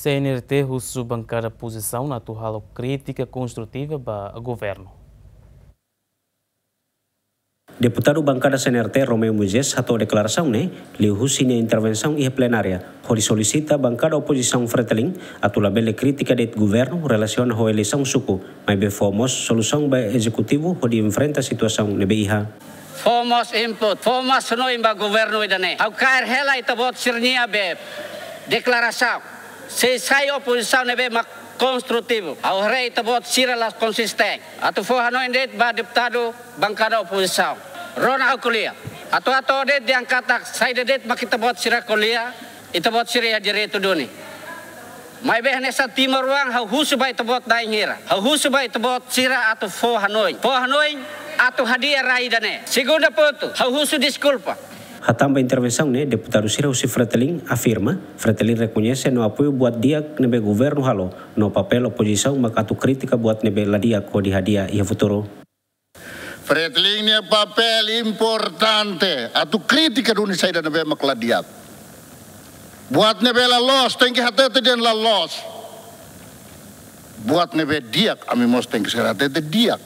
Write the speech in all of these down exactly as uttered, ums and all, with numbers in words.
C N R T husu bankada opozisaun atu halo krítika konstrutiva ba governu. Deputadu bankada C N R T Romeu Moisés hato'o deklarasaun ne'e liuhusi nia intervensaun iha plenária, hodi solisita bankada opozisaun Fretilin atu labele krítika de'it governu relasiona ho eleisaun suku, maibé fó mós solusaun ba ezekutivu hodi enfrenta situasaun ne'ebé iha. Fó mós input, fó mós hanoin ba governu ida-ne'e. Ha'u kaer hela ita-boot sira-nia be deklarasaun. Sei sai opozisaun ne'ebé mak konstrutivu. Ha'u haree ita-boot sira la konsistente. Atu fó hanoin de'it ba deputadu bankada opozisaun. Rona ha'u ko'alia. Atu hato'o de'it dehan katak saida de'it mak ita-boot sira ko'alia, ita-boot sira iha direitu duni. Maibé hanesan timoroan ha'u husu ba ita-boot na'in hira. Ha'u husu ba ita-boot sira atu fó hanoin. Fó hanoin atu hadi'a rai ida-ne'e. Segunda pontu, ha'u husu deskulpa. Hatán ba intervensaun ne'e, deputadu sira husi Fretilin afirma, Fretilin rekoñese no apoiu buat di'ak ne'ebé governu halo, no papél opozisaun mak atu krítika buat ne'ebé la di'ak hodi hadi'a iha futuru. Fretilin nia papél importante atu krítika duni saida ne'ebé mak la di'ak. Buat ne'ebé la loos, tenke hatete dehan la loos. Buat ne'ebé di'ak, ami mós tenke sei hatete di'ak.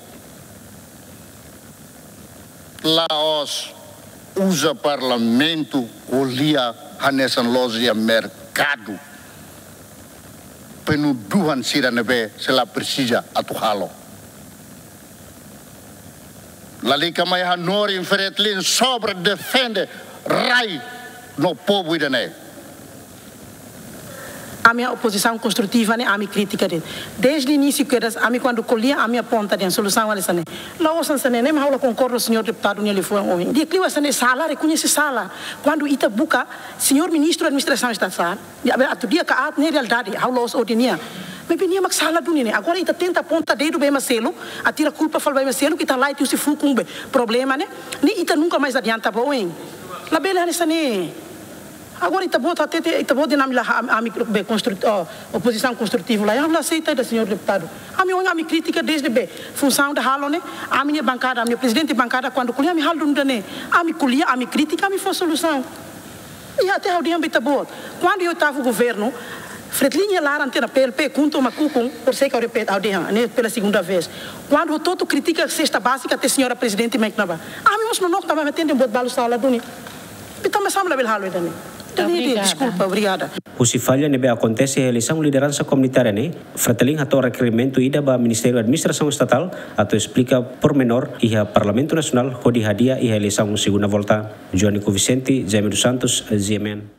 La'ós uza parlamentu ko'alia hanesan loja merkadu. Penuduhan sira ne'ebé sei la presiza atu halo. Lalika mai hanorin Fretilin sobre defende rai no povu ida-ne'e. Ami iha opozisaun konstrutiva ne'e, ami krítika de'it. Desde inísiu kedas, ami kuandu ko'alia, ami aponta dehan solusaun hanesan ne'e. La'ós hanesan ne'e, ne'e mak ha'u la konkorda señór deputadu nia liafuan ohin. Di'ak liu hanesan ne'e sala, rekoñese sala. Kuandu ita buka, señór ministru administrasaun estatal, atu di'ak ka aat ne'e realidade, ha'u la'ós odi nia. Maibé nia mak sala duni ne'e. Agora ita tenta aponta dedu ba ema seluk, atu tira kulpa fali ba ema seluk, ita la'o husi fuuk ne'ebé problema ne'e. Ne'e ita nunka mais adianta ba oin. Labele hanesan ne'e. Agora ita-boot hatete, ita-boot dehan ami la, ami, ami be konstru-, oh, opozisaun konstrutivu la, ami la aseita ida señór deputadu. Ami ohin ami krítika desde be funsaun ida halo ne'e, ami-nia bankada, ami-nia prezidente bankada kuandu ko'alia ami halo duni ida-ne'e. Ami ko'alia, ami krítika, ami fó solusaun. I até ha'u dehan ba ita-boot. Kuandu iha oitavu governu, Fretilin nia laran tiha ona P L P, KHUNTO ho KHUKUM, por sei ka repete, ha'u dehan, ne'e pela segunda vez. Kuandu hotu-hotu kritika sesta bázika até señora prezidente mai kona-ba. Ami mós nonook tanba ami hatene buat balu sala duni. Ita mós sama labele halo ida-ne'e. Ida-ne'e, obrigada. Deskulpa, obrigada. Husi falla ne'ebé akontese iha eleisaun lideransa komunitária ne'e, Fretilin hato'o rekerimentu ida ba Ministériu Administrasaun Estatal atu esplika pormenór iha Parlamentu Nasionál hodi hadi'a iha eleisaun segunda volta. Joanico Vicente, Jaime dos Santos, G M N.